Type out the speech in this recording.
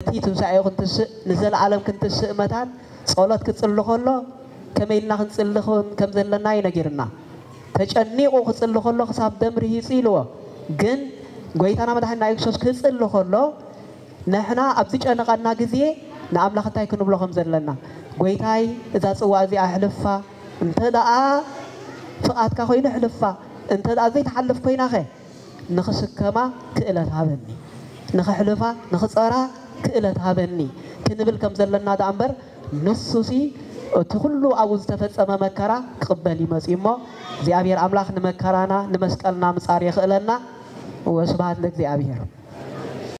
ነቲ ትንሳኤኡ ክንትስእ ንዘለኣለም ክንትስእ መታን ጸሎት ክጽሊ ከሎ ከመይ ኢልና ክንጽሊ ከም ዘለና እዩ ነጊርና። ተጨኒቑ ክጽሊ ከሎ ክሳብ ደም ርሂጹ ኢልዎ። ግን ጎይታና መድሓኒና የሱስ ክጽሊ ከሎ ንሕና ኣብ ዝጨነቐና ግዜ ንኣምላኽ እንታይ ክንብሎ ከም ዘለና፣ ጎይታይ እዛ ጽዋ እዚኣ ኣሕልፋ፣ እንተ ደኣ ፍቓድካ ኮይኑ ኣሕልፋ፣ እንተ ደኣ ዘይትሓልፍ ኮይናኸ ንኽስከማ ክእለት ሃበኒ፣ ንኽሕልፋ ንኽጸራ ክእለት ሃበኒ ክንብል ከም ዘለና ደኣ እምበር ንሱሲ እቲ ኩሉ ኣብኡ ዝተፈጸመ መከራ ክቕበል እዩ መጺኡ እሞ እግዚኣብሔር ኣምላኽ ንመከራና ንመስቀልና ምጻር የኽእለና። ወስብሃት ለእግዚኣብሔር።